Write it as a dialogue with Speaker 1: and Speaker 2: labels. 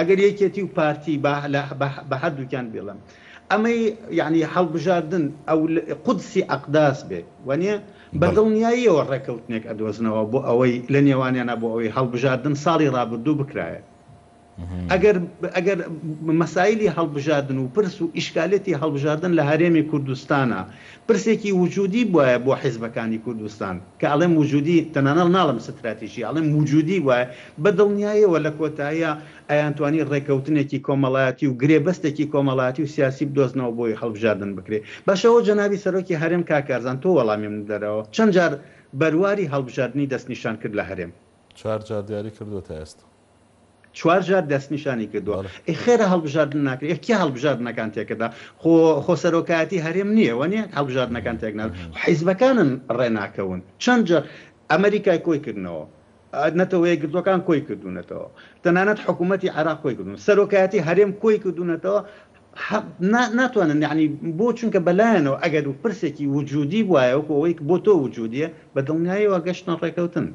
Speaker 1: ئەگەر یەکێتی و پارتی با بە هەردووکیان بیڵێم ئەمەی یەعنی هەڵبژاردن ئەو قودسی ئەقداس بێ وانیە؟ بە دڵنیاییەوە ڕێکەوتنێک ئەدۆزنەوە بۆ ئەوەی لە نێوانیانا بۆ ئەوەی هەڵبژاردن ساڵی ڕابردوو بکرایە. ئەگەر ئەگەر مەسایلی هەڵبژاردن و پرس و ئیشکالێتی هەڵبژاردن لە هەرێمی کوردستانا پرسێکی وجودی بوایە بۆ حیزبەکانی کوردستان کە ئەڵێم وجودی تەنانەڵ ناڵێم ستراتیژی ئەڵێم وجودی بوایە بە دڵنیایەوە لە کۆتاییا ئەیانتوانی ڕێکەوتنێکی کۆمەڵایەتی و گرێبەستێکی کۆمەڵایەتی و سیاسی بدۆزنەوە بۆی هەڵبژاردن بکرێ. باشە ئەوە جەنابی سەرۆکی هەرێم کاک کارزان تۆ وەڵامی من بدەرەوە چەند جار بەرواری هەڵبژاردنی دەستنیشان کرد لە هەرێم؟
Speaker 2: چوار جار دیاری کردووە تا ئێستا.
Speaker 1: چوار جار دەستنیشانی کردووە.
Speaker 2: بەڵێ.
Speaker 1: ئەی خێرە هەڵبژاردن ناکرێ؟ ئێ کێ هەڵبژاردنەکان تێکەدا؟ خۆ خۆ سەرۆکایەتی هەرێم نییە وەنیە هەڵبژاردنەکان تێک نادات؟ حیزبەکانن ڕێ ناکەون. چەند جار ئەمەریکای کۆی کردنەوە. نەتەوە یەکگرتووەکان کۆی کردوونەتەوە. تەنانەت حکوومەتی عێراق کۆی کردوون. سەرۆکایەتی هەرێم کۆی کردوونەتەوە. ناتوانن یەعنی بۆ چونکە بەلایەنەوە ئەگەر پرسێکی وجودی بوایە وەکو ئەوەی بۆ تۆ وجودیە بە دڵنیاییەوە گەشتنە ڕێکەوتن.